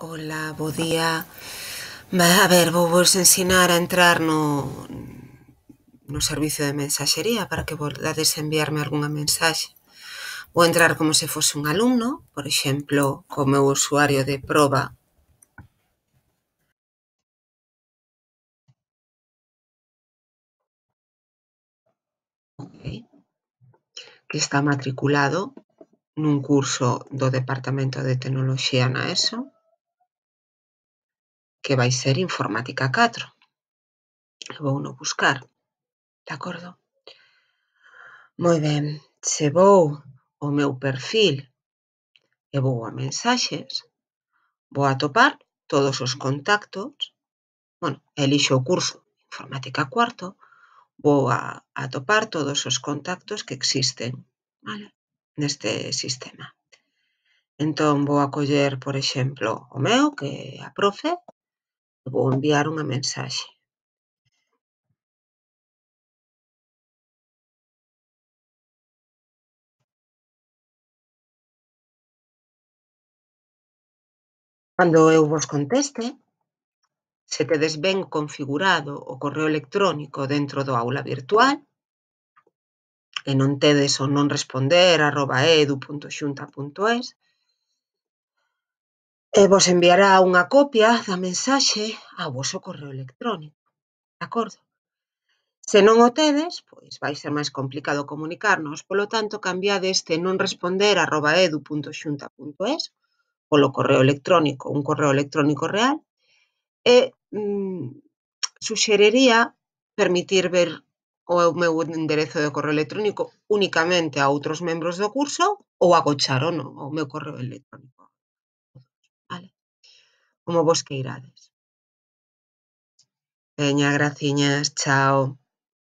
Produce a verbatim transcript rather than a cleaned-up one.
Ola, bo día. A ver, vou vos ensinar a entrar no, no servicio de mensaxería para que volades enviarme algunha mensaxe. Vou entrar como se fose un alumno, por exemplo, co meu usuario de proba. Okay. Que está matriculado nun curso do Departamento de Tecnoloxía na ESO, que vai ser Informática catro. Vou no buscar, de acordo? Moi ben, se vou ao meu perfil e vou a mensaxes, vou atopar todos os contactos, bueno, elixo o curso Informática cuarto, vou a atopar todos os contactos que existen, vale, neste sistema. Entón, vou a coller, por exemplo, o meu, que é a profe, e vou enviar unha mensaxe. Cando eu vos conteste, se tedes ben configurado o correo electrónico dentro do aula virtual, e non tedes o non responder arroba edu punto xunta punto es, e vos enviará unha copia da mensaxe ao voso correo electrónico, de acordo? Se non o tedes, pois vai ser máis complicado comunicarnos, polo tanto, cambiade este non responder arroba edu punto xunta punto es polo correo electrónico, un correo electrónico real, e mm, suxeriría permitir ver o meu enderezo de correo electrónico únicamente a outros membros do curso ou agochar o, no, o meu correo electrónico. Vale? Como vos queirades. Veña, graciñas, chao.